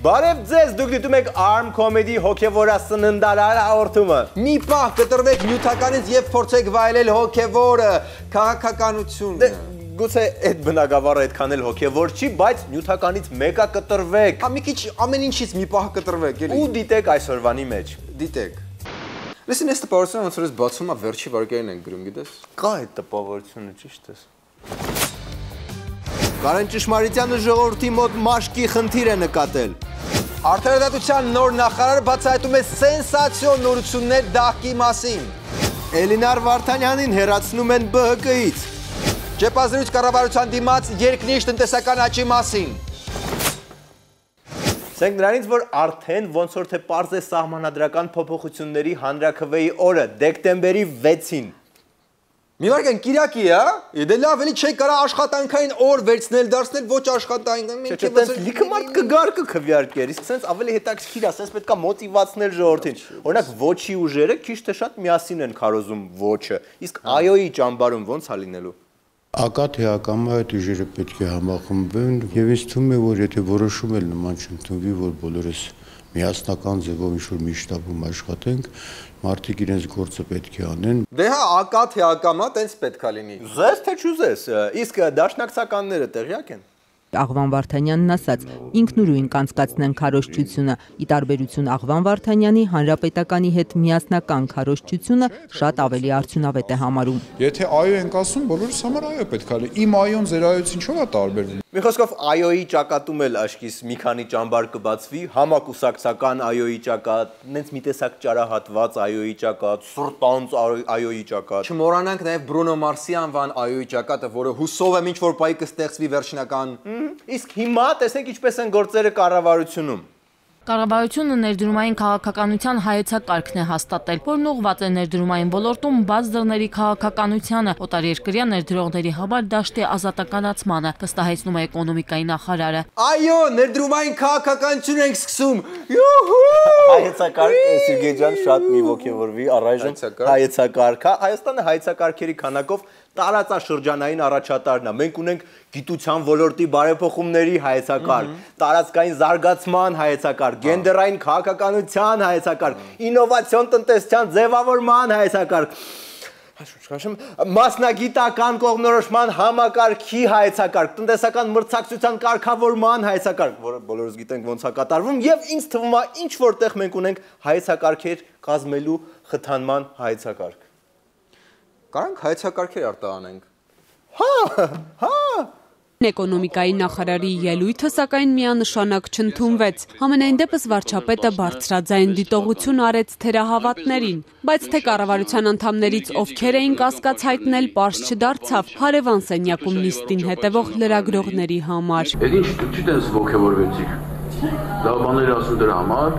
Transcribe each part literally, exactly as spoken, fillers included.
Բարև ձեզ, դուք դիտում եք Arm Comedy հոգևորասննդարար հաղորդումը։ Մի պահ կտրվեք նյութականից եւ փորձեք վայելել հոգևորը, քաղաքականությունը։ Գուցե այդ բնակավարը այդքան էլ հոգևոր չի, բայց նյութականից մեկը կտրվեք։ Հա մի քիչ ամեն ինչից մի պահ կտրվեք, էլի։ Ու դիտեք այսօրվանի մեջ։ Դիտեք։ Լսին, այս տպավորությունը ոնց որ ես բացում ա վերջի վարկերին ենք գրում, գիտես։ Կա այդ տպավորությունը, ճիշտ ես։ Կարեն Ճշմարիտյանը ժողովրդի մոտ մաշկի խնդիր է նկատել։ Արդարադատության նոր նախարարը բացահայտում է սենսացիոն նորություններ դահկի մասին։ Էլինար Վարդանյանին հեռացնում են B H K-ից։ Ճեպազրույց կառավարության դիմաց երկնիշ տնտեսական աճի մասին։ Ասենք նրանից, որ արդեն ոնց որ թե պարզ է սահմանադրական փոփոխությունների հանրաքվեի օրը, դեկտեմբերի վեցին։ Մի վարքան Կիրակի է, դե լավ էլի չի կարա աշխատանքային օր վերցնել, դարձնել ոչ աշխատանքային։ Չէ, չէ, լիքը մարդ կգար կքվեարկեր, իսկ sense ավելի հետաքրքիր է, sense պետք է մոտիվացնել ժողովրդին։ Օրինակ ոչի ուժերը քիչ թե շատ միասին են քարոզում ոչը, իսկ այոյի ճամբարում ոնց է լինելու։ Ակատ է ակամա այդ ուժերը պետք է համախմբվեն եւ ինձ թվում է, որ եթե որոշում էլ նման չընդունվի, որ բոլորս միասնական ձևով ինչ-որ մի շտաբում աշխատենք, մարդիկ իրենց գործը պետք է անեն։ Դե հա, ակատ է ակամա, տենց պետք է լինի։ Զես թե չուզես, իսկ դաշնակցականները տեղյակ են։ Աղվան Վարդանյանն ասաց, ինքնուրույն կանցկացնեն քարոզչությունը, ի տարբերություն Աղվան Վարդանյանի հանրապետականի հետ միասնական քարոզչությունը շատ ավելի արդյունավետ է համարում։ Եթե այո ենք ասում, բոլորս համար այո պետք է լինի։ Իմ այոն ձեր այոց ինչով է տարբերվում։ Մի խոսքով այոյի ճակատում էլ աշկիս մի քանի ճամբար կբացվի, համակուսակցական այոյի ճակատ, նենց մի տեսակ ճարահատված այոյի ճակատ, սրտանց այոյի ճակատ։ Չմոռանանք նաև Բրունո Մարսի անվան այոյի ճակատը, որը հուսով եմ ինչ-որ պահի կստեղծվի վերջնական։ Իսկ հիմա տեսեք ինչպես են գործերը կառավարությունում։ Կառավարությունը ներդրումային քաղաքականության հայեցակարգն է հաստատել, որն ուղղված է ներդրումային ոլորտում բաց դռների քաղաքականությանը, օտարերկրյա ներդրողների համար դաշտի ազատականացմանը, վստահեցնում է էկոնոմիկայի նախարարը։ Այո, ներդրումային քաղաքականություն ենք սկսում։ Յուհու! Հայեցակարգ Սերգեյ ջան շատ մի ոգևորվի, առայժմ հայեցակարգը, Հայաստանը հայեցակարգերի քանակով տարածաշրջանային առաջատարն է։ Մենք ունենք գիտության ոլորտի բարեփոխումների հայեցակարգ, տարածքային զարգացման հայեցակարգ, գենդերային քաղաքականության հայեցակարգ, ինովացիոն տնտեսության ձևավորման հայեցակարգ, մասնագիտական կողմնորոշման համակարգի հայեցակարգ, տնտեսական մրցակցության կարգավորման հայեցակարգ, որը բոլորս գիտենք ոնց է կատարվում, եւ ինձ թվում է ինչ որտեղ մենք ունենք հայեցակարգեր կազմելու խթանման հայեցակարգ։ Կարանք հայեցակարգեր արտահանենք։ Հա, հա։ Էկոնոմիկայի նախարարի ելույթը սակայն միանշանակ չընդունվեց։ Համենայն դեպս վարչապետը բարձրաձայն դիտողություն արեց թերահավատներին, բայց թե կառավարության անդամներից ովքեր էին կասկած հայտնել, պարզ չդարձավ հարևան սենյակում նիստին հետևող լրագրողների համար։ Այդ ինչ չտես ոգևորվեցիք։ Լավ բաներ ասում դրա համար,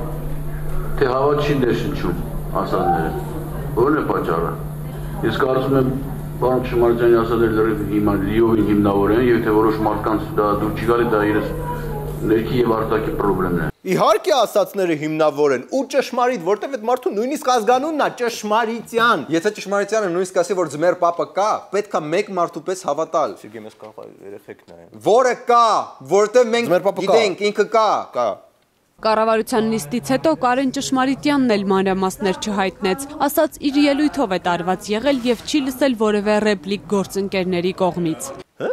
թե հավատ չի ներշնչում ասածները։ Որն է պատճառը։ Ես կարծում եմ Պարոն Ճշմարիտյանի ասածները հիմա լիովին հիմնավոր են, եւ թե որոշ մարդկանց դա դուր չի գալի, դա իրենց ներքի եւ արտաքի խնդիրներն են։ Իհարկե ասածները հիմնավոր են ու ճշմարիտ, որտեվ այդ մարդու նույնիսկ ազգանունն է Ճշմարիտյան։ Եթե Ճշմարիտյանը նույնիսկ ասի, որ ձմեր պապը կա, պետք է մեկ մարդու պես հավատալ։ Սերգեյ, մեզ կարող է երեխեք նայեն։ Որը կա, որտեղ մենք գիտենք, ինքը կա։ Կա։ Կառավարության նիստից հետո Կարեն Ճշմարիտյանն էլ մանրամասներ չհայտնեց, ասաց իր ելույթով է տարված եղել եւ չի լսել որևէ ռեպլիկ գործընկերների կողմից։ Հա՞։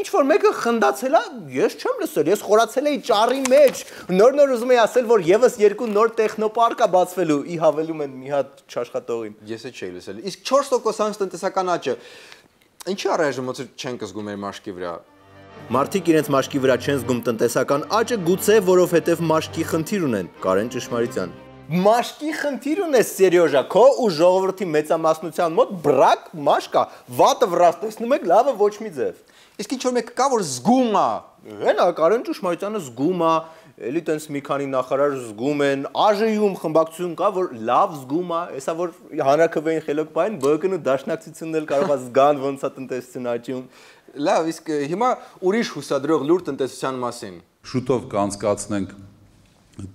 Ինչ որ մեկը խնդացել է, ես չեմ լսել, ես խորացել էի ճառի մեջ։ Նոր-նոր ուզում էի ասել, որ եւս երկու նոր տեխնոպարկ է բացվելու, ի հավելում են մի հատ չաշխատողին։ Ես էլ չէի լսել։ Իսկ չորս տոկոսանոց տնտեսական աճը ինչի առայժմ ոնց չեն կզգում մեր մաշկի վրա։ Մարդիկ իրենց մաշկի վրա չեն զգում տնտեսական աճը, գուցե որովհետև մաշկի խնդիր ունեն, Կարեն Ճշմարիտյան։ Մաշկի խնդիր ունես, Սերյոժա, քո ու ժողովրդի մեծամասնության մոտ բրակ մաշկա, վատը վրաս տեսնում եք, լավը ոչ մի ձև։ Իսկ ինչ որ մեկը կա, որ զգում է։ Հենա, Կարեն Ճշմարիտյանը զգում է, էլի տենց մի քանի նախարար զգում են, ԱԺ-ում խմբակցություն կա, որ լավ զգում է, հեսա որ հանրաքվեին խելոք պայն, B H K-ն ու դաշնակցությունն էլ կարող է զգան ոնց է տնտեսություն աճում։ Լավ, իսկ հիմա ուրիշ հուսադրող լուր տնտեսության մասին։ Շուտով կանցկացնենք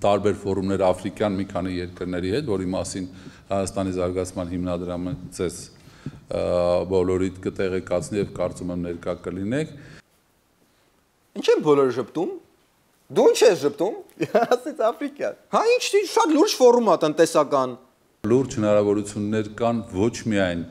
տարբեր ֆորումներ աֆրիկյան մի քանի երկրների հետ, որի մասին Հայաստանի զարգացման հիմնադրամը ցես բոլորիդ կտեղեկացնի եւ կարծում եմ ներկա կլինեք։ Ինչ են բոլորը շփտում։ Դու ինչ ես ժպտում։ Ասեց Աֆրիկա։ Հա, ինչ շատ լուրջ ֆորում է տնտեսական։ Լուրջ հնարավորություններ կան ոչ միայն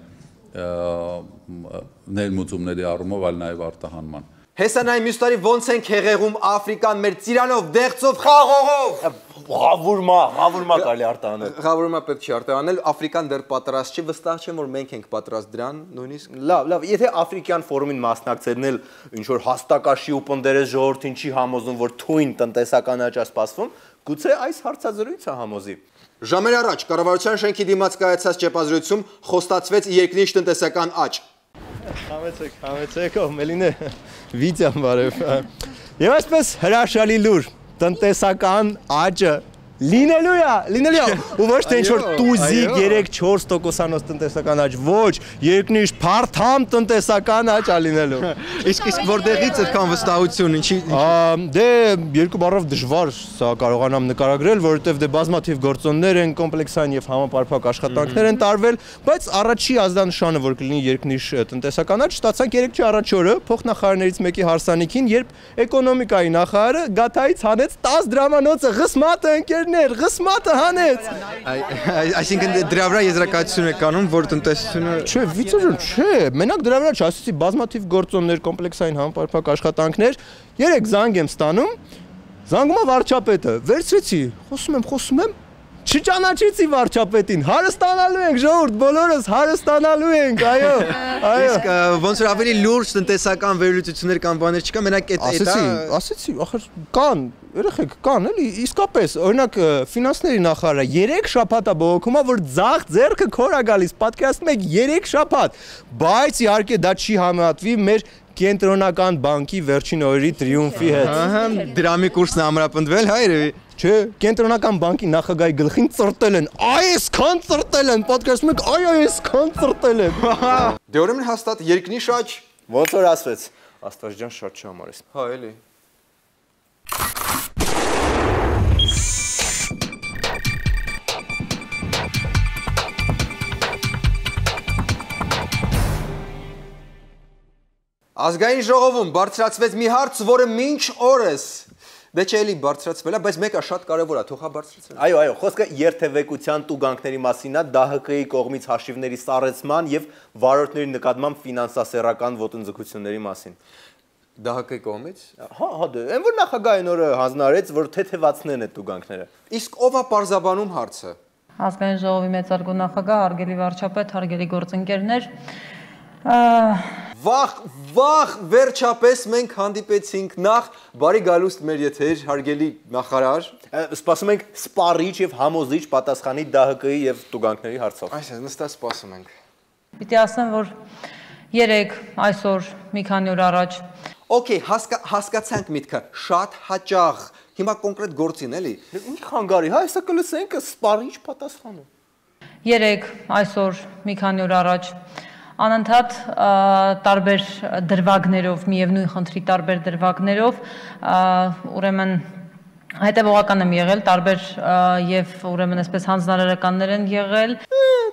ներմուծումների առումով, այլ նաև արտահանման։ Հեսանայի մյուս տարի ոնց ենք հեղեղում Աֆրիկան մեր ծիրանով, դեղցով, խաղողով։ Ղավուրմա, ղավուրմա կարելի արտահանել։ Ղավուրմա պետք չի արտահանել, Աֆրիկան դեռ պատրաստ չի, վստահ չեմ, որ մենք ենք պատրաստ դրան, նույնիսկ։ Լավ, լավ, եթե Աֆրիկյան ֆորումին մասնակցելն էլ ինչ որ հաստակաշի ու պնդերես ժողովրդին չի համոզում, որ թույն տնտեսական աճ է սպասվում, գուցե այս հարցազրույցը համոզի։ Ժամեր առաջ կառավարության շենքի դիմաց կայացած ճեպազրույցում խոստացվեց երկնիշ տնտեսական աճ։ Համեցեք, համեցեք, ով Մելինե, վիդեոն բարև։ Եվ այսպես հրաշալի լուր, տնտեսական աճը լինելու է, լինելու է, ու ոչ թե ինչ-որ տուզիկ երեք չորս տոկոսանոց տնտեսական աճ, ոչ, երկնիշ փարթամ տնտեսական աճ է լինելու։ Իսկ իսկ որտեղից այդքան վստահություն, ինչի։ Դե երկու բառով դժվար սա կարողանամ նկարագրել, որովհետև դե բազմաթիվ գործոններ են, կոմպլեքսային եւ համապարփակ աշխատանքներ են տարվել, բայց առաջի ազդանշանը, որ կլինի երկնիշ տնտեսական աճ, ստացանք երեք առաջ օրը փոխնախարարներից մեկի հարսանիքին, երբ էկոնոմիկայի նախարարը գաթայից հանեց տասը դրամանոցը ղսմատը ընկեր Ղսմատը հանեց։ Այսինքն դրա վրա եզրակացություն է կանում, որ տնտեսությունը Չէ, վիճակը չէ, մենակ դրա վրա չասեցի բազմաթիվ գործոններ, կոմպլեքսային համապարփակ աշխատանքներ, երեք զանգ եմ ստանում, զանգում է վարչապետը, վերցրեցի, խոսում եմ, խոսում եմ, չճանաչեցի վարչապետին, հարստանալու ենք, ժողովուրդ, բոլորս հարստանալու ենք, այո, այո։ Իսկ ոնց որ ավելի լուրջ տնտեսական վերլուծություններ կամ բաներ չկա, մենակ այդ Ասեցի, ասեցի, ախր կան, երեխեք, կան, էլի, իսկապես, օրինակ ֆինանսների նախարարը երեք շաբաթ է բողոքում, որ ձախ ձեռքը քոր է գալիս, պատկերացնում եք երեք շաբաթ, բայց իհարկե դա չի համեմատվի մեր կենտրոնական բանկի վերջին օրերի տրիումֆի հետ։ Ահա, դրամի կուրսն է ամրապնդվել, հա երևի։ Չէ, կենտրոնական բանկի նախագահի գլխին ծրտել են, այսքան ծրտել են, պատկերացնում եք, այ այսքան ծրտել են։ Դե ուրեմն հաստատ երկնիշ աճ։ Ոնց որ ասվեց, Աստված ջան շատ չհամարես։ Հա, էլի։ Ազգային ժողովում բարձրացվեց մի հարց, որը մինչ օրս դե չէ էլի բարձրացվել է, բայց մեկը շատ կարևոր է, թող հա բարձրացվի։ Այո, այո, խոսքը երթևեկության տուգանքների մասին է, ԴՀԿ-ի կողմից հաշիվների սառեցման եւ վարորդների նկատմամբ ֆինանսասեռական ոտնձգությունների մասին։ ԴՀԿ-ի կողմից։ Հա, հա, դե, այն որ նախագահային օրը հանձնարարեց, որ թեթևացնեն այդ տուգանքները։ Իսկ ով է պարզաբանում հարցը։ Ազգային ժողովի մեծարգո նախագահ, հարգելի վարչապետ, հարգելի գործընկերներ, Վախ, վախ, վերջապես մենք հանդիպեցինք նախ բարի գալուստ մեր եթեր, հարգելի նախարար։ Սպասում ենք սպառիչ եւ համոզիչ պատասխանի ԴՀԿ-ի եւ տուգանքների հարցով։ Այսինքն նստած սպասում ենք։ Պիտի ասեմ, որ երեք այսօր մի քանի օր առաջ Okay, հասկացանք միտքը, շատ հաճախ։ Հիմա կոնկրետ գործին, էլի։ Ինչ խանգարի, հա, հեսա կլսենք սպառիչ պատասխանը։ Երեք այսօր մի քանի օր առաջ անընդհատ տարբեր դրվագներով, միևնույն խնդրի տարբեր դրվագներով, ուրեմն հետևողական եմ եղել, տարբեր եւ ուրեմն այսպես հանձնարարականներ են եղել։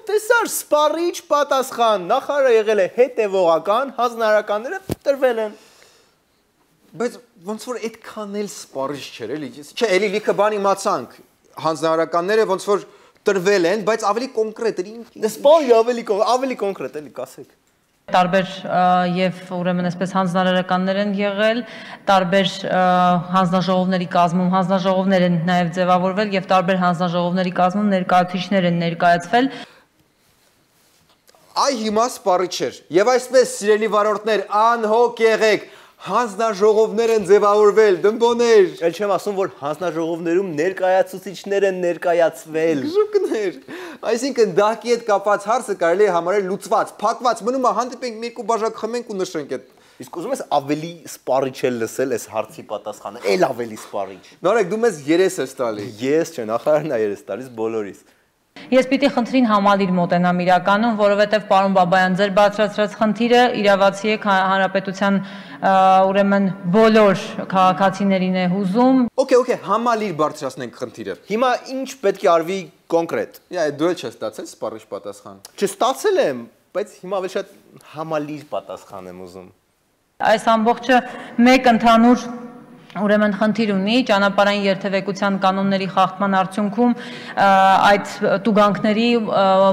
Տեսար սպառիչ պատասխան, նախարարը եղել է հետևողական, հանձնարարականները տրվել են։ Բայց ոնց որ այդքան էլ սպառիչ չէր, էլի։ Չէ, էլի լիքը բան իմացանք։ Հանձնարարականները ոնց որ տրվել են, բայց ավելի կոնկրետ էր։ Սպառի ավելի ավելի կոնկրետ էլի կասեք։ Տարբեր եւ ուրեմն այսպես հանձնարարականներ են եղել, տարբեր հանձնաժողովների կազմում հանձնաժողովներ են նաեւ ձևավորվել եւ տարբեր հանձնաժողովների կազմում ներկայացուցիչներ են ներկայացվել։ Այ հիմա սպառիչ էր։ Եվ այսպես սիրելի վարորդներ, անհոգ եղեք, հանձնաժողովներ են ձևավորվել, դմբոներ։ Էլ չեմ ասում, որ հանձնաժողովներում ներկայացուցիչներ են ներկայացվել։ Գժուկներ։ Այսինքն դահկի հետ կապված հարցը կարելի է համարել լուծված, փակված, մնում է հանդիպենք մի երկու բաժակ խմենք ու նշենք այդ։ Իսկ ուզում ես ավելի սպառիչ էլ լսել այս հարցի պատասխանը, էլ ավելի սպառիչ։ Նորեկ դու մեզ երես ես տալի։ Ես չէ, նախարարն է երես տալիս բոլորիս։ Ես պիտի խնդրին համալիր մոտենամ իրականում, որովհետև պարոն Բաբայան, ձեր բարձրացրած խնդիրը իրավացի է հանրապետության ուրեմն բոլոր քաղաքացիներին է հուզում։ Okay, okay, համալիր բարձրացնենք խնդիրը։ Հիմա ինչ պետք է արվի կոնկրետ։ Իա, դու էլ չես ստացել սպառիչ պատասխան։ Չստացել եմ, բայց հիմա ավելի շատ համալիր պատասխան եմ ուզում։ Այս ամբողջը մեկ ընդհանուր ուրեմն խնդիր ունի ճանապարհային երթևեկության կանոնների խախտման արդյունքում այդ տուգանքների,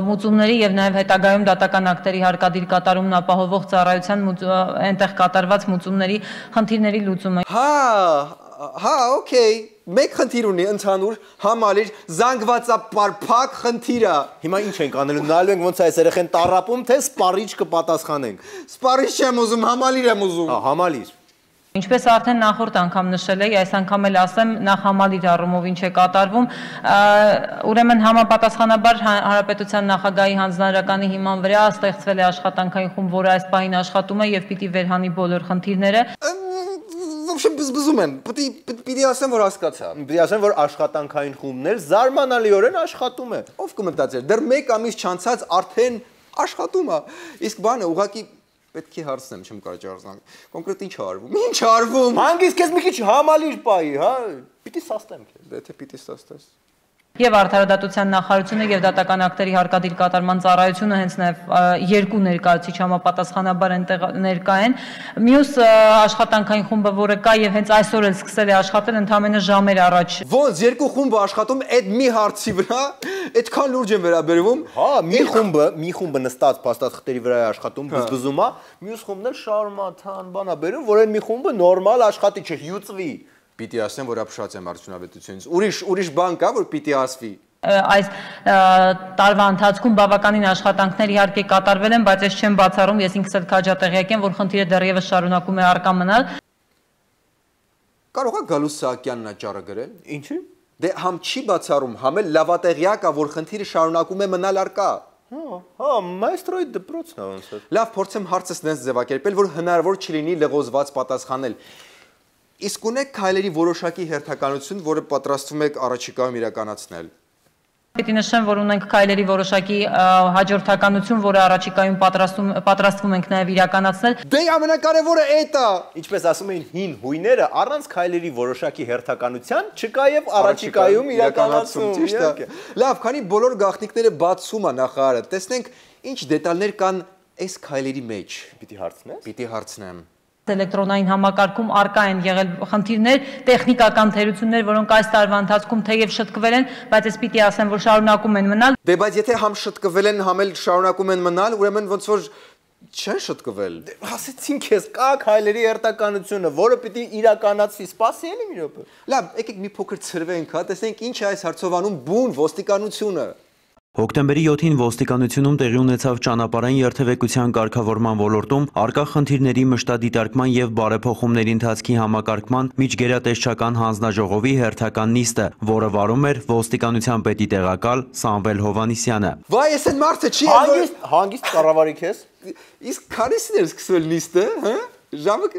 մուծումների եւ նաեւ հետագայում դատական ակտերի հարկադիր կատարումն ապահովող ծառայության այնտեղ կատարված մուծումների խնդիրների լուծումը։ Հա, հա, օքեյ, մեկ խնդիր ունի ընդհանուր համալիր զանգվածապարփակ խնդիրը։ Հիմա ինչ ենք անելու, նայելու ենք ոնց է այս երեխեն տառապում, թե սպառիչ կպատասխանենք։ Սպառիչ չեմ ուզում, համալիր եմ ուզում։ Հա, համալիր։ Ինչպես արդեն նախորդ անգամ նշել էի, այս անգամ էլ ասեմ, նախ համալիր առումով ինչ է կատարվում, ուրեմն համապատասխանաբար Հանրապետության նախագահի հանձնարարականի հիման վրա ստեղծվել է աշխատանքային խումբ, որը այս պահին աշխատում է եւ պիտի վերհանի բոլոր խնդիրները։ Ոբշեմ բզբզում են, պիտի ասեմ, որ հասկացա։ Պիտի ասեմ, որ աշխատանքային խումբն էլ զարմանալիորեն աշխատում է։ Ով կմտածեր, դեռ մեկ ամիս չանցած արդեն աշխատում է։ Իսկ բանը ուղղակի պետք է հարցնեմ, չեմ կարող ջարդանալ։ Կոնկրետ ինչ արվում։ Ինչ արվում։ Հանգիստ քեզ մի քիչ համալիր պայի, հա։ Պիտի սաստեմ քեզ։ Դե թե պիտի սաստես։ Եվ արդարադատության նախարարությունը եւ դատական ակտերի հարկադիր կատարման ծառայությունը հենց նաեւ երկու ներկայացուցիչ համապատասխանաբար այնտեղ ներկա են։ Մյուս աշխատանքային խումբը, որը կա եւ հենց այսօր էլ սկսել է աշխատել, ընդամենը ժամեր առաջ։ Ոնց երկու խումբը աշխատում այդ մի հարցի վրա, այդքան լուրջ են վերաբերվում։ Հա, մի խումբը, մի խումբը նստած փաստաթղթերի վրա է աշխատում, բզբզում է, մյուս խումբն էլ շարմաթան բան է բերում, որ այն մի խումբը նորմալ աշխատի, չհյուծվի։ Պիտի ասեմ, որ ապշած եմ արդյունավետությունից։ Ուրիշ ուրիշ բան կա, որ պիտի ասվի։ Այս տարվա ընթացքում բավականին աշխատանքներ իհարկե կատարվել են, բայց ես չեմ բացառում, ես ինքս էլ քաջատեղյակ եմ, որ խնդիրը դեռևս շարունակում է առկա մնալ։ Կարող է Գալուս Սահակյանն աճառը գրել։ Ինչի՞։ Դե համ չի բացառում, համ էլ լավատեղյակ է, որ խնդիրը շարունակում է մնալ առկա։ Հա, հա, մայստրոյի դպրոցն է ոնց է։ Լավ, փորձեմ հարցս նենց ձևակերպել, որ հնարավոր չլինի լղոզված պատասխանել։ Իսկ ունեք քայլերի որոշակի հերթականություն, որը պատրաստվում եք առաջիկայում իրականացնել։ Պիտի նշեմ, որ ունենք քայլերի որոշակի հաջորդականություն, որը առաջիկայում պատրաստում պատրաստվում ենք նաև իրականացնել։ Դե ամենակարևորը էդ է։ Ինչպես ասում էին հին հույները, առանց քայլերի որոշակի հերթականության չկա եւ առաջիկայում իրականացում, ճիշտ է։ Լավ, քանի բոլոր գաղտնիքները բացում է նախարարը, տեսնենք ինչ դետալներ կան այս քայլերի մեջ։ Պիտի հարցնես։ Պիտի հարցնեմ։ Էլեկտրոնային համակարգում արկա են եղել խնդիրներ, տեխնիկական թերություններ, որոնք այս տարվա ընթացքում թեև շտկվել են, բայց ես պիտի ասեմ, որ շարունակում են մնալ։ Դե բայց եթե համ շտկվել են, համ էլ շարունակում են մնալ, ուրեմն ոնց որ չեն շտկվել։ Ասեցին քեզ, կա քայլերի հերթականությունը, որը պիտի իրականացվի, սպասի էլի մի րոպե։ Լավ, եկեք մի փոքր ցրվենք, հա, տեսնենք ինչ է այս հարցովանում բուն ոստիկանությունը։ Հոկտեմբերի յոթին ոստիկանությունում տեղի ունեցավ ճանապարհային երթևեկության կարգավորման ոլորտում արկա խնդիրների մշտադիտարկման եւ բարեփոխումների ընթացքի համակարգման միջգերատեսչական հանձնաժողովի հերթական նիստը, որը վարում էր ոստիկանության պետի տեղակալ Սամվել Հովանիսյանը։ Վայ, ես այդ մարդը չի հանգիստ, հանգիստ կառավարի քեզ։ Իսկ քանիսին էր սկսվել նիստը, հա? Ժամը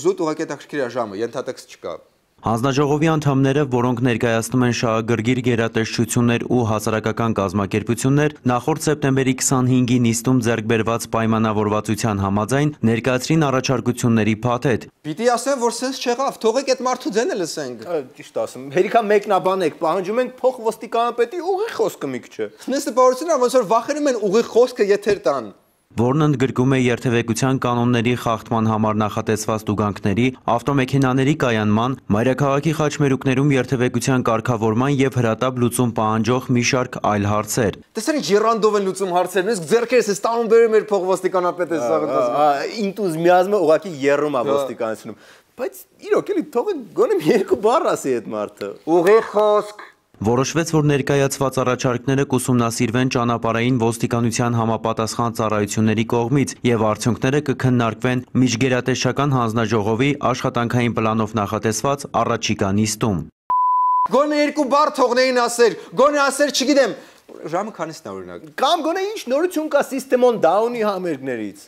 զուտ ուղղակի հետաքրքիր է ժամը, ենթատեքստ չկա։ Հանձնաժողովի անդամները, որոնք ներկայացնում են շահագրգիռ գերատեսչություններ ու հասարակական կազմակերպություններ, նախորդ սեպտեմբերի քսանհինգի նիստում ձեռք բերված պայմանավորվածության համաձայն ներկայացրին առաջարկությունների փաթեթ։ Պիտի ասեմ, որ սենց չեղավ, թողեք այդ մարդու ձենը լսենք։ Ճիշտ ասում, հերիքա մեկնաբանեք, պահանջում ենք փոխ ոստիկանապետի ուղիղ խոսքը մի քիչ։ Նստը բարությունն ոնց որ վախենում են ուղիղ խոսքը եթեր տան։ Որն ընդգրկում է երթևեկության կանոնների խախտման համար նախատեսված տուգանքների, ավտոմեքենաների կայանման, մայրաքաղաքի խաչմերուկներում երթևեկության կարգավորման եւ հրատապ լուծում պահանջող մի շարք այլ հարցեր։ Տեսեք ինչ երանդով են լուծում հարցերն, իսկ ձեռքերս էս տանում բերում էր փող ոստիկանապետը սաղ։ Ինտուզիազմը ուղղակի երրում է ոստիկանությունում։ Բայց իրոք էլի թողեք գոնե երկու բառ ասի այդ մարդը։ Ուղիղ խոսք։ Որոշվեց, որ ներկայացված առաջարկները կուսումնասիրվեն ճանապարհային ոստիկանության համապատասխան ծառայությունների կողմից եւ արդյունքները կքննարկվեն միջգերատեսչական հանձնաժողովի աշխատանքային պլանով նախատեսված առաջիկա նիստում։ Գոնե երկու բառ թողնեին ասեր, գոնե ասեր, չգիտեմ, ժամը քանիսն է օրինակ։ Կամ գոնե ինչ նորություն կա System-on Down-ի համերգներից։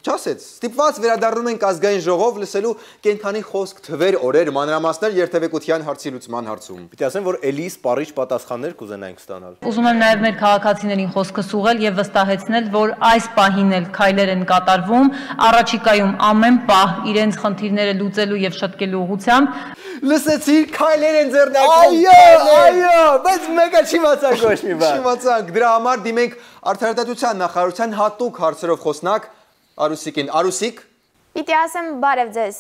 Չասեց, ստիպված վերադառնում ենք ազգային ժողով լսելու կենթանի խոսք, թվեր, օրեր, մանրամասներ երթևեկության հարցի լուծման հարցում։ Պիտի ասեմ, որ էլի սպառիչ պատասխաններ կուզենայինք ստանալ։ Ուզում եմ նաև մեր քաղաքացիներին խոսքս ուղղել եւ վստահեցնել, որ այս պահին էլ քայլեր են կատարվում, առաջիկայում ամեն պահ իրենց խնդիրները լուծելու եւ շտկելու ուղղությամբ։ Լսեցի, քայլեր են ձեռնարկում։ Այո, այո, բայց մեկը չիմացանք ոչ մի բան։ Չիմացանք, դրա համար դիմենք արդարադատության նախարարության հատուկ հարցերով խոսնակ Արուսիկին։ Արուսիկ։ Պիտի ասեմ բարև ձեզ։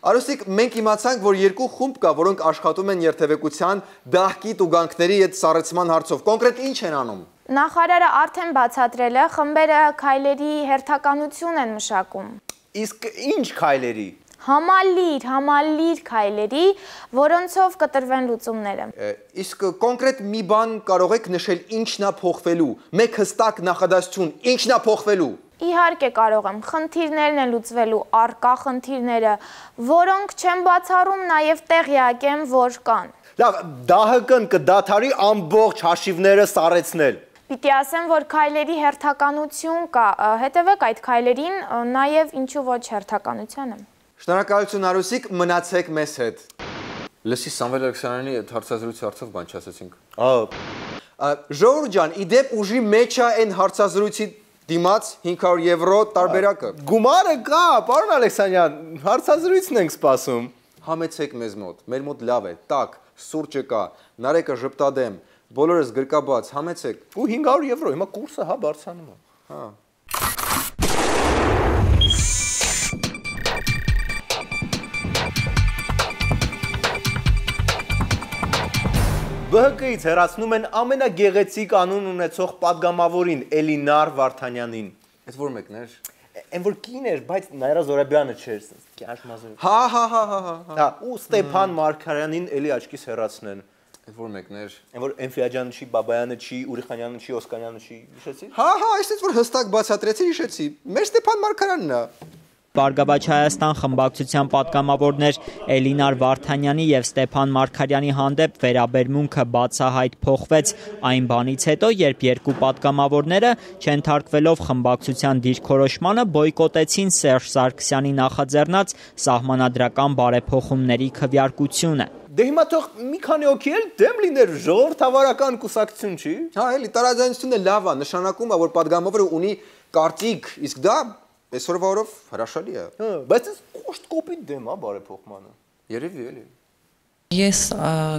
Արուսիկ, մենք իմացանք, որ երկու խումբ կա, որոնք աշխատում են երթևեկության դահքի տուգանքների հետ սառեցման հարցով։ Կոնկրետ ինչ են անում։ Նախարարը արդեն բացատրել է, խմբերը քայլերի հերթականություն են մշակում։ Իսկ ինչ քայլերի։ Համալիր, համալիր քայլերի, որոնցով կտրվեն լուծումները։ Իսկ կոնկրետ մի բան կարող եք նշել ինչն է փոխվելու։ Մեկ հստակ նախադասություն, ինչն է փոխվելու։ Իհարկե կարող եմ, խնդիրներն են լուծվելու, առկա խնդիրները, որոնք չեն բացառում, նաև տեղյակ եմ, որ կան։ Լավ, ԴԱՀԿ-ն կդադարի ամբողջ հաշիվները սառեցնել։ Պիտի ասեմ, որ քայլերի հերթականություն կա, հետևեք այդ քայլերին, նաև ինչու ոչ հերթականությանը։ Շնորհակալություն Արուսիկ, մնացեք մեզ հետ։ Լսի Սամվել Ալեքսանյանի հարցազրույցի հարցով բան չասեցինք։ Ժողովուրդ ջան, իդեպ ուժի մեջ է այն հարցազրույցի դիմաց հինգ հարյուր եվրո տարբերակը։ Գումարը կա, պարոն Ալեքսանյան, հարցազրույցն ենք սպասում։ Համեցեք մեզ մոտ, մեր մոտ լավ է, տաք, սուրճը կա, նարեկը ժպտադեմ, բոլորս գրկաբաց, համեցեք։ Ու հինգ հարյուր եվրո, հիմա կուրսը հա բարձրանում է։ Հա։ ԲՀԿ-ից հեռացնում են ամենագեղեցիկ անուն ունեցող պատգամավորին Էլինար Վարդանյանին։ Այդ որ մեկն էր։ Այն որ կին էր, բայց Նայրա Զորաբյանը չէր, կյանք մազուրը։ Հա, հա, հա, հա, հա։ Հա, ու Ստեփան Մարգարյանին էլի աչքից հեռացնեն։ Այդ որ մեկն էր։ Այն որ Էնֆիաջյանը չի, Բաբայանը չի, Ուրիխանյանը չի, Օսկանյանը չի, հիշեցի։ Հա, հա, այսպես որ հստակ բացատրեցի, հիշեցի։ Մեր Ստեփան Մարգարյանն է։ Բարգավաճ Հայաստան խմբակցության պատգամավորներ Էլինար Վարդանյանի եւ Ստեփան Մարգարյանի հանդեպ վերաբերմունքը բացահայտ փոխվեց այն բանից հետո, երբ երկու պատգամավորները չենթարկվելով խմբակցության դիրքորոշմանը բոյկոտեցին Սերժ Սարգսյանի նախաձեռնած սահմանադրական բարեփոխումների քվեարկությունը։ Դե հիմա թող մի քանի օքի էլ դեմ լիներ ժողովրդավարական կուսակցություն, չի։ Հա, էլի տարաձայնությունը լավ է, նշանակում է, որ պատգամավորը ունի կարծիք, իսկ դա այսօրվա օրով հրաշալի է։ Հա, բայց այս կոշտ կոպիտ դեմ է բարեփոխմանը։ Երևի էլի։ Ես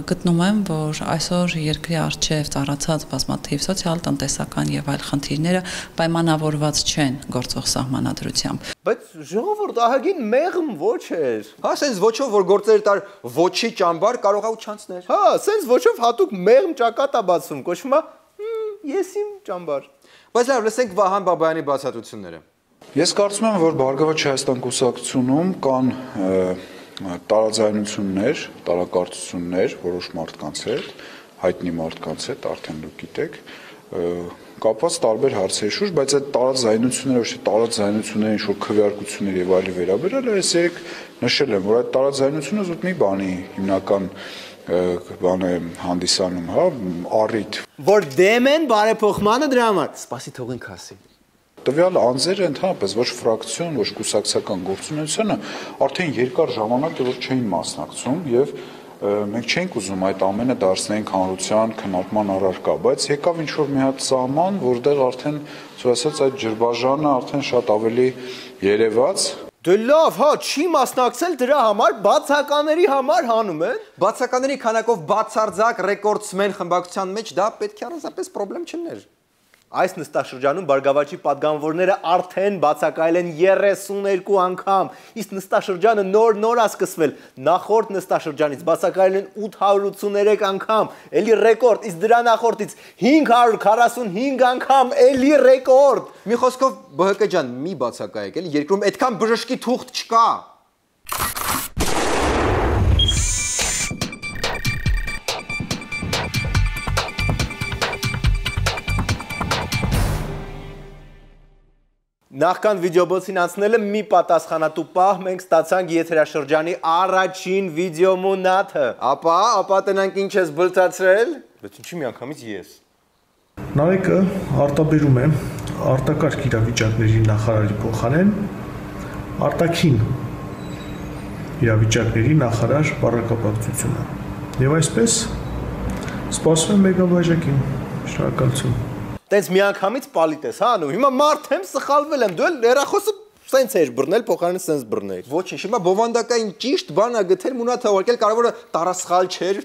գտնում եմ, որ այսօր երկրի առջև ծառացած բազմաթիվ սոցիալ-տնտեսական եւ այլ խնդիրները պայմանավորված չեն գործող սահմանադրությամբ։ Բայց ժողովուրդ ահագին մեղմ ոչ էր։ Հա, սենց ոչով որ գործեր տար ոչի ճամբար կարող է ու չանցներ։ Հա, սենց ոչով հատուկ մեղմ ճակատ է բացում, կոչվում է ես իմ ճամբար։ Բայց լավ, լսենք Վահան Բաբայանի բացատրությունները։ Ես կարծում եմ, որ Բարգավաճ Հայաստան կուսակցությունում կան տարաձայնություններ, տարակարծություններ որոշ մարդկանց հետ, հայտնի մարդկանց հետ, արդեն դուք գիտեք, կապված տարբեր հարցերի շուրջ, բայց այդ տարաձայնությունները, ոչ թե տարաձայնությունները ինչ-որ քվեարկություններ եւ այլի վերաբերել, ես երեք նշել եմ, որ այդ տարաձայնությունը զուտ մի բանի հիմնական բան է հանդիսանում, հա, առիթ, որ դեմ են բարեփոխմանը դրա համար։ Սպասի թողենք ասի։ Տվյալ անձերը ընդհանրապես ոչ ֆրակցիոն, ոչ կուսակցական գործունեությունը արդեն երկար ժամանակ է որ չէին մասնակցում եւ մենք չենք ուզում այդ ամենը դարձնենք հանրության քննարկման առարկա, բայց եկավ ինչ որ մի հատ սահման, որտեղ արդեն ասած այդ ջրբաժանը արդեն շատ ավելի երևաց։ Դե լավ, հա, չի մասնակցել դրա համար, բացակաների համար հանում են։ Բացակաների քանակով բացարձակ ռեկորդսմեն խմբակցության մեջ դա պետք է առանձնապես խնդրեմ չներ։ Այս նստաշրջանում Բարգավաճի պատգամավորները արդեն բացակայել են երեսուներկու անգամ, իսկ նստաշրջանը նոր-նոր է սկսվել, նախորդ նստաշրջանից բացակայել են ութ հարյուր ութսուներեք անգամ, էլի ռեկորդ, իսկ դրա նախորդից հինգ հարյուր քառասունհինգ անգամ, էլի ռեկորդ։ Մի խոսքով ԲՀԿ ջան, մի բացակայեք, էլի երկրում այդքան բժշկի թուղթ չկա։ Նախքան վիդեոբոցին անցնելը մի պատասխանատու պահ մենք ստացանք եթերաշրջանի առաջին վիդեոմունաթը։ Ապա, ապա տնանք ինչ ես բլթացրել։ Բայց ինչի միանգամից ես։ Նարեկը արտաբերում է արտակարգ իրավիճակների նախարարի փոխարեն արտաքին իրավիճակների նախարար բառակապակցությունը։ Եվ այսպես սպասում եմ մեգաբաժակին։ Շնորհակալություն։ Տենց միանգամից պալիտ ես, հա, նու, հիմա մարդ եմ, սխալվել եմ, դու էլ հեռախոսը սենց էիր բռնել, փոխարենը սենց բռնել։ Ոչինչ, հիմա բովանդակային ճիշտ բան ա գտել, մունաթ հավաքել, կարևորը տարասխալ չէր։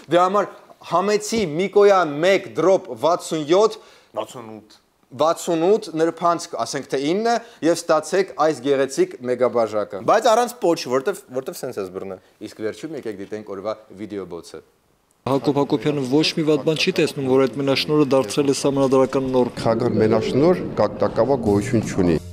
Դրա համար համեցի Միկոյան մեկ դրոպ վաթսունյոթ վաթսունութ վաթսունութ նրբանցք, ասենք թե ինը եւ ստացեք այս գեղեցիկ մեգաբաժակը։ Բայց առանց պոչ, որտեվ որտեվ sense ես բռնել։ Իսկ վերջում եկեք դիտենք օրվա վիդեոբոցը։ Հակոբ Հակոբյանը ոչ մի վատ բան չի տեսնում, որ այդ մենաշնորհը դարձել է սահմանադրական նորմ։ Խաղաղ մենաշնորհ как таково գոյություն չունի։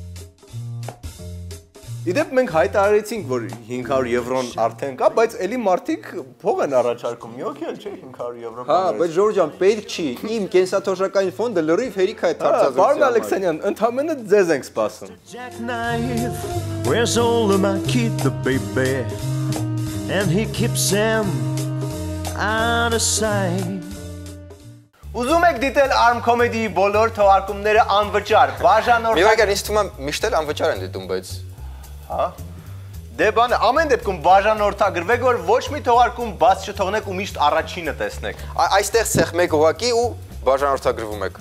Իդեպ մենք հայտարարեցինք, որ հինգ հարյուր եվրոն արդեն կա, բայց էլի մարդիկ փող են առաջարկում, մի հոգի էլ չէ հինգ հարյուր եվրո։ Հա, բայց Ժորժ ջան, պետք չի։ Իմ կենսաթոշակային ֆոնդը լրիվ հերիք է այդ հարցազրույցը։ Պարոն Ալեքսանյան, ընդհանրապես ձեզ ենք սպասում։ Where's all of my kid the baby and he keeps them out of sight. Ուզում եք դիտել Arm Comedy-ի բոլոր թողարկումները անվճար, բաժանորդ։ Մի վայր ինձ թվում է միշտ էլ անվճար են դիտում, բայց հա։ Դե բանը, ամեն դեպքում բաժանորդագրվեք, որ ոչ մի թողարկում բաց չթողնեք ու միշտ առաջինը տեսնեք։ Այստեղ ցեխ մեկ ուղակի ու բաժանորդագրվում եք։